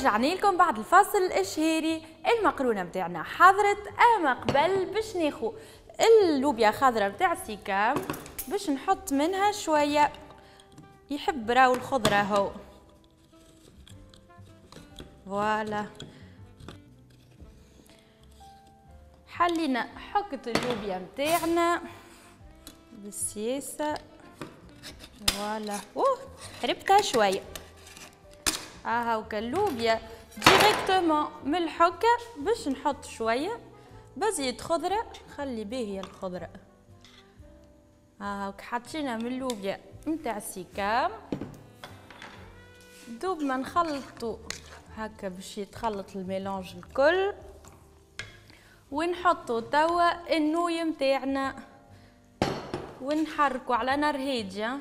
ورجعنا لكم بعد الفاصل الاشهيري. المقرونه متاعنا حضرت، اما قبل باش ناخو اللوبيا خضراء متاع سيكام باش نحط منها شوية، يحب راهو الخضرة هو. voilà حلينا حكة اللوبيا متاعنا بالسياسة. voilà اوه حربتها شوية. هاوكا اللوبيا directement من الحكة باش نحط شوية بزيت خضرة، خلي باهيه الخضرة. هاوكا حطينا من اللوبيا نتاع السيكام، دوب ما نخلطو هكا باش يتخلط ال mélange الكل، ونحطو توا ال nouilles متاعنا ونحركو على نار هادية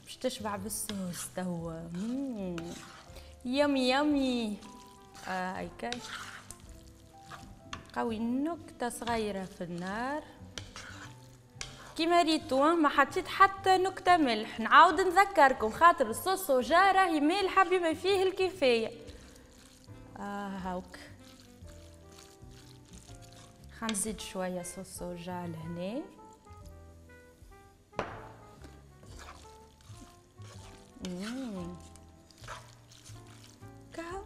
باش تشبع بالصوص توا. yummy yummy. هايكا قوي نكتة صغيرة في النار كيما ريتو، ما حطيت حتى نكتة ملح. نعاود نذكركم خاطر ال sauce soja راهي مالحة بما فيه الكفاية. هاوك خنزيد شوية sauce soja لهنا. كهو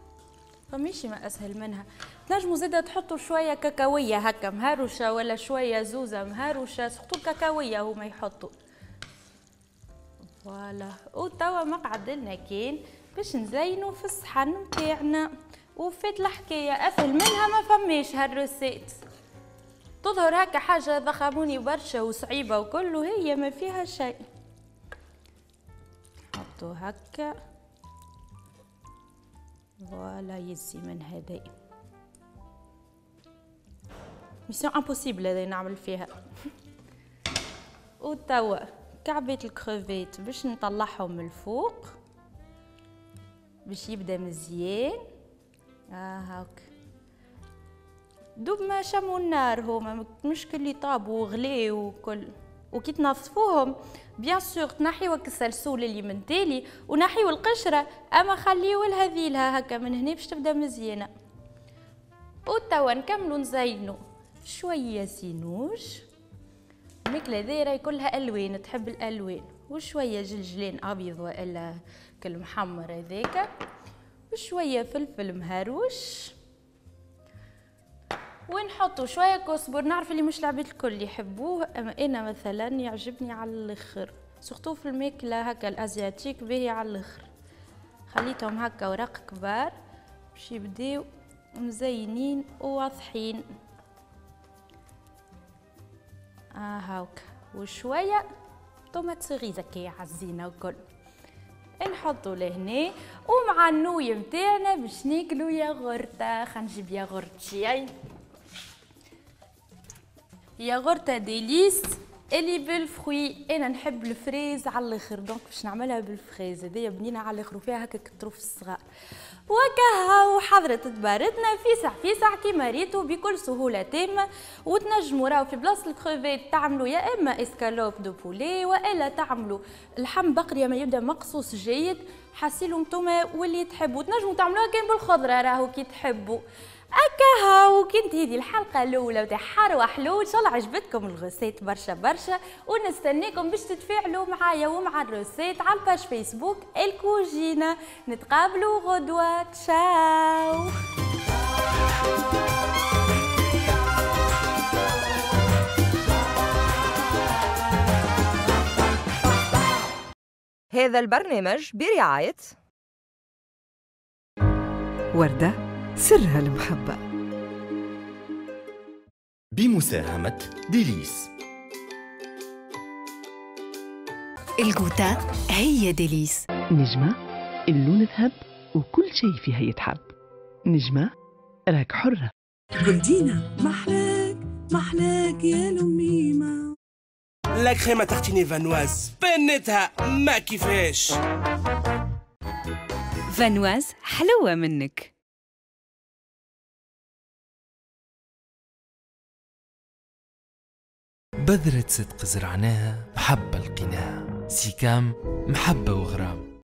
فماشي ما اسهل منها. تنجموا زاده تحطوا شوية كاكاويه هكا مهروشه ولا شوية زوزه مهروشه، surtout الكاكاويه هما يحطوا. voilà وتوا ما قعد لنا كان باش نزينوا في الصحن نتاعنا. وفات الحكاية، اسهل منها ما فماش. هال recette تظهر هكا حاجة ضخموني برشا وصعيبه وكل، وهي ما فيها شيء. نحطو هكا voilà يزي من هذا. mission impossible هذا نعمل فيها. وتوا كعبة الكروفيت باش نطلعهم من الفوق باش يبدا مزيان. هاك دوب ما شموا النار هما مش كل طابوا وغليو وكل. وكي تنظفوهم bien sûr تنحيو السلسول اللي من تالي ونحيو القشرة، اما خليو لها ذيلها هكا من هنا باش تبدا مزيانه. وتوا نكملو نزينو شوية سينوج. الماكلة هذي راهي كلها الوان، تحب الالوان، وشوية جلجلين ابيض والا كل محمر هذاك، وشوية فلفل مهروش، ونحطوا شوية كزبر. نعرف اللي مش العباد الكل يحبوه، اما انا مثلا يعجبني على الاخر، surtout في الماكلة هكا ال asiatique باهي على الاخر. خليتهم هكا ورق كبار باش يبداو مزينين وواضحين. هاوك وشوية tomates cerises كي عزينه وكل نحطو لهنا. ومع ال nouilles متاعنا باش ناكلو ياغورتا. خلينا نجيب ياغورتي، ياغورتا ديليس اللي بال fruits. انا نحب ال fraise على الاخر، donc باش نعملها بال fraise هذيا بنينه على الاخر وفيها هكا الطروف الصغار. وكهو حضرت تبارتنا فيسع فيسع كيما ريتو بكل سهولة تامة. وتنجموا راهو في بلاصة الكروفيت تعملوا يا اما escalope de poulet والا تعملوا لحم بقري ما يبدا مقصوص جيد، حاسيلو نتوما واللي تحبوا. تنجموا تعملوها كان بالخضره راهو كي تحبوا. اكاها وكنت هذه الحلقة الاولى تاع حار وحلو. ان شاء الله عجبتكم ال recette برشا برشا، ونستناكم باش تتفاعلوا معايا ومع ال recette على ال page فيسبوك الكوجينه. نتقابلوا غدوه، تشاو. هذا البرنامج برعاية وردة سرها المحبة، بمساهمة ديليس. الجوتا هي ديليس. نجمة اللون ذهب وكل شيء فيها يتحب. نجمة راك حرة. جولدينا محلاك محلاك يا لميمة. la crème à tartiner فانواز بنتها ما كيفاش. فانواز حلوة منك. بذرة صدق زرعناها محبة لقيناها. سيكام محبة وغرام.